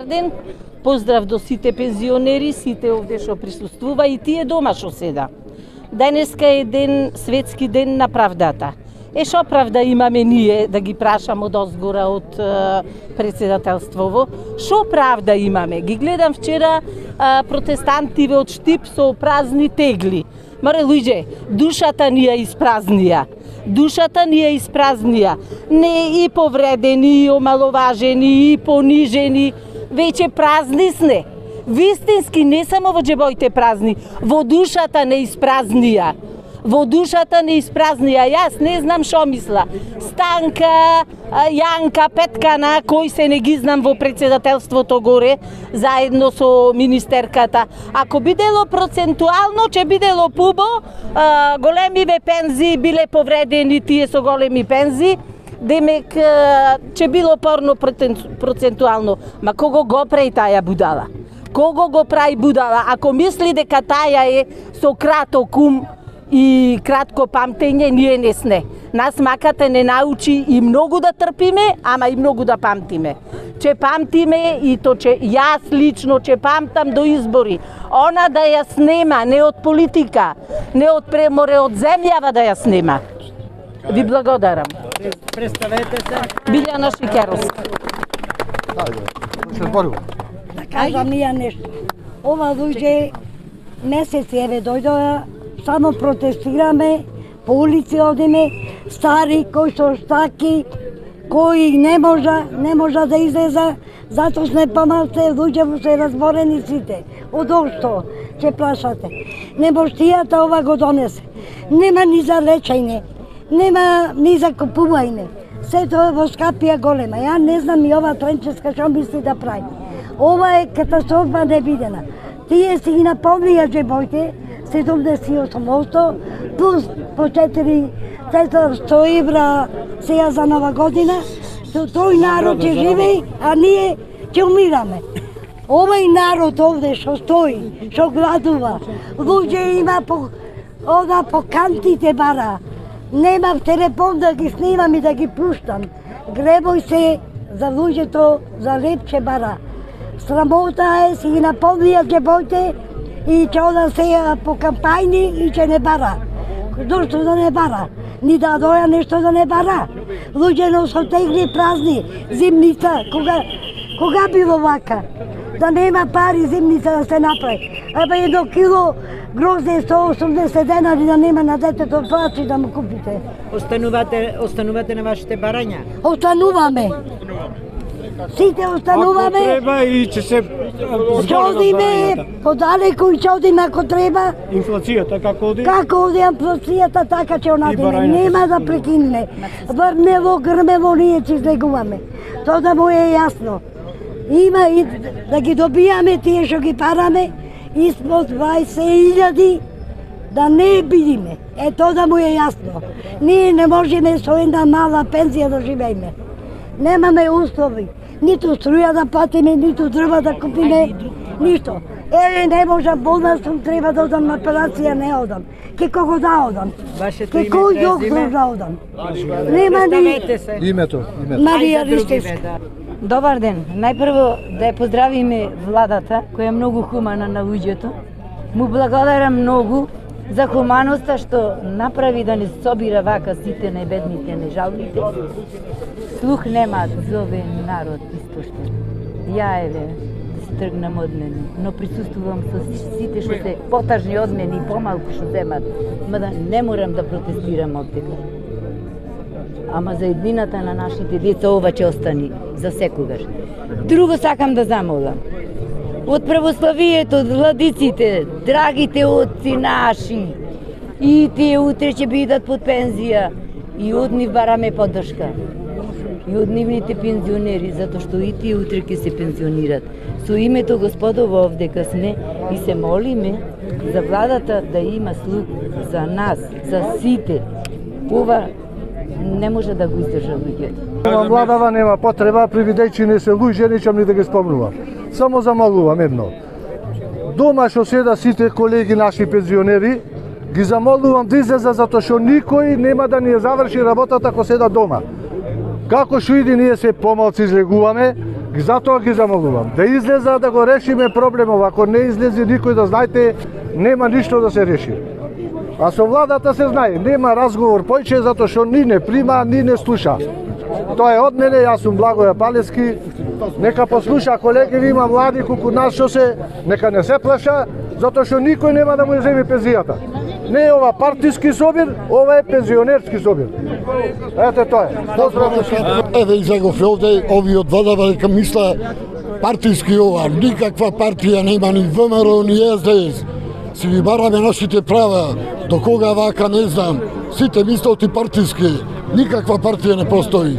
Ден, поздрав до сите пензионери, сите овде што присуствува и тие дома што седа. Денеска е ден, светски ден на правдата. Шо правда имаме ние, да ги прашам од озгора од председателството? Шо правда имаме? Ги гледам вчера протестантиве од Штип со празни тегли. Маре луѓе, душата ни ја испразнија. Душата ни ја испразнија. Не и повредени, и омаловажени, и понижени. Веќе празни сне. Вистински, не само во џебоите празни, во душата не испразнија. Во душата не испразнија. Јас не знам шо мисла. Станка, Јанка, Петкана, кои се не ги знам во председателството горе, заедно со министерката. Ако бидело процентуално, ќе бидело пубо, големиве пензии биле повредени тие со големи пензии, демек ќе било порно процентуално. Ма кого го прави таа будала? Кого го прави будала? Ако мисли дека таа е со краток ум и кратко памтење, ние не сне. Нас маката не научи и многу да трпиме, ама и многу да памтиме. Че памтиме и то че јас лично че памтам до избори. Она да ја снема, не од политика, не од преморе, од земјава да ја снема. Ви благодарам. Представете се. Билјана Шикеровска. Да кажам ја нешто. Ова луѓе месеци еве дојдоа, само протестираме, по улици одиме, стари кои со штаки, кои не можа да излеза, затоа сме помалце луѓе се разборени сите. Од што ќе прашате? Немоштијата ова го донесе. Нема ни за лечење, нема ни за купување. Сето е во скапија голема. Ја не знам и ова Тренчевска што мисли да прави. Ова е катастрофа невидена. Тие си ги наполнија џебоите, 78% плюс по 400 евра сега за нова година. Тој народ ќе живее, а ние ќе умираме. Овој народ овде што стои, што гладува, луѓе има по кантите бара. Немав телефон да ги снимам и да ги пуштам. Гребој се за луѓето, за лепче бара. Срамота е, си ги наполнија џебоите и ќе ода сега по кампајни и ќе не бара. Зошто да не бара? Ни да доја нешто да не бара. Луѓе носо тегли празни, зимница, кога било вака? Да нема пари зимница да се направи. Абе 1 кило грозде 180 денари да нема на детето плачи да му купите. Останувате на вашите барања? Остануваме. Сите остануваме. Ако треба и ќе се одиме подалеку и ќе одиме ако треба. Инфлацијата како оди? Како оди инфлацијата, така ќе одиме. Нема да прекине. Врнево, грмево, ние ќе излегуваме. Тоа да му е јасно. Има и да ги добијаме тие што ги параме испод 20.000 да не бидиме. Тоа да му е јасно. Ние не можеме со една мала пензија да живееме. Немаме услови. Ниту струја да платиме, ниту дрва да купиме, ништо. Не може болна сум, треба да одам на операција, не одам. Ке кого да одам? Вашето име, кој доктор да одам? Нема ни... Името. Марија Ристевска. Добар ден. Најпрво да ја поздравиме владата, која е многу хумана на луѓето. Му благодарам многу за хуманоста што направи да не собира вака сите најбедните, нежалните. Слух немаат за овој народ испуштен. Ја еве, да се тргнам од мене, но присуствувам со сите што се потажни од мене и помалку што земат, мада не морам да протестирам овдека. Ама за еднината на нашите деца ова ќе остани за секогаш. Друго сакам да замолам. Од православието, од владиците, драгите отци наши, и тие утре ќе бидат под пензија, и од нив бараме поддршка. И од нивните пензионери, затоа што и тие утре ќе се пензионират. Со името Господово овдека сме и се молиме за владата да има слух за нас, за сите. Ова не може да го издржа луѓето. Владава нема потреба, привидејќи не се луѓе, нечам ни да ги спомнувам. Само замолувам едно. Дома што седа сите колеги наши пензионери, ги замолувам да излеза затоа што никој нема да ни ја заврши работата ако седа дома. Како што иди ние се помалци излегуваме, Затоа ги замолувам да излеза да го решиме проблемов. Ако не излезе никој, да знаете, нема ништо да се реши. А со владата се знае, нема разговор појче затоа што ни не прима, ни не слуша. Тоа е од мене, јас сум Благоја Палески. Нека послуша колеги, има млади колку нас што се, нека не се плаша, затоа што никој нема да му ја земе пензијата. Не е ова партиски собир, ова е пензионерски собир. Ете тоа е. Еве излегов овде, овие од владата дека мисла партиски ова, никаква партија нема ни ВМРО ни СДС. Си ги бараме нашите права, до кога вака не знам, сите мислат и партиски, никаква партија не постои.